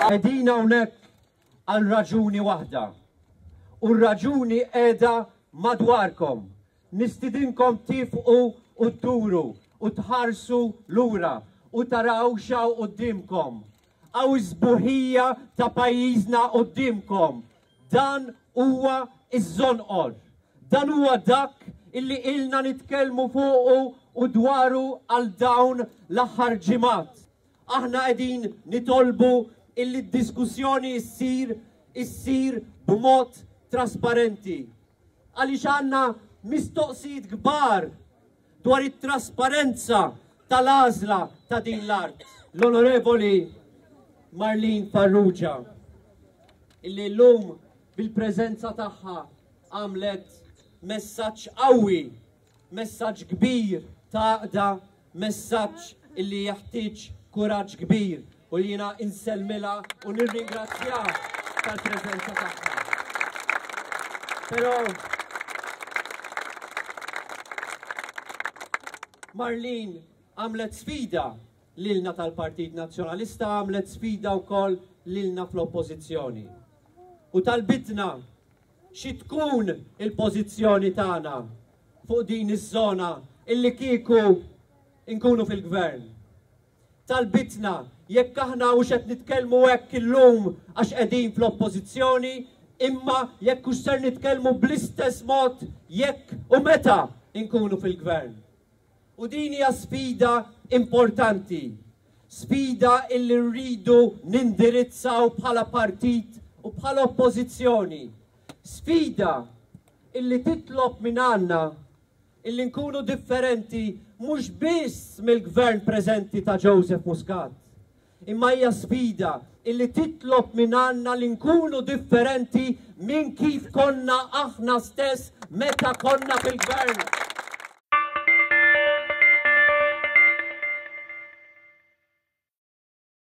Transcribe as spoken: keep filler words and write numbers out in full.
Qegħdin hawnhekk għal raġuni waħda. U r-raġuni qiegħda madwarkom. Nistidinkom tieqfu u dduru u tħarsu lura u taraw x'hawn quddiemkom. Hawn is-sbuħija ta' pajjiżna quddiemkom. Dan huwa iż-Żonqor. Dan huwa dak illi ilna nitkellmu fuqu u dwaru għal dawn l-aħħar ġimgħat. Aħna qegħdin nitolbu illi d-diskussjoni issir issir b'mod trasparenti. Għaliex għandna mistoqsijiet kbar dwar it-trasparenza tal-għażla ta' din l-art. L-Onorevoli Marlene Farrugia, illi llum bil-preżenza tagħha għamlet messaġġ qawwi, messaġġ kbir ta' għaqda, messaġġ illi jeħtieġ kuraġġ kbir u li jiena insellmilha u nirringrazzja tal-preżenza tagħha. Però Marlene għamlet sfida lilna tal-Partit Nazzjonalista, għamlet sfida wkoll lilna fl-Oppożizzjoni. U talbitna xi tkun il-pożizzjoni tagħna fuq din iż-żona illi kieku nkunu fil-gvern. Talbitna jekk aħna hux qed nitkellmu hekk illum għax qegħdin fl-Oppożizzjoni, imma jekk hux ser nitkellmu bl-istess mod jekk u meta nkunu fil-gvern. U din hija sfida importanti, sfida illi rridu nindirizzaw bħala partit u bħala oppożizzjoni. Sfida illi titlob minn għandna illi nkunu differenti mhux biss mill-gvern preżenti ta' Joseph Muscat, imma hija sfida illi titlob minn għandna li nkunu differenti minn kif konna aħna stess meta konna fil-gvern.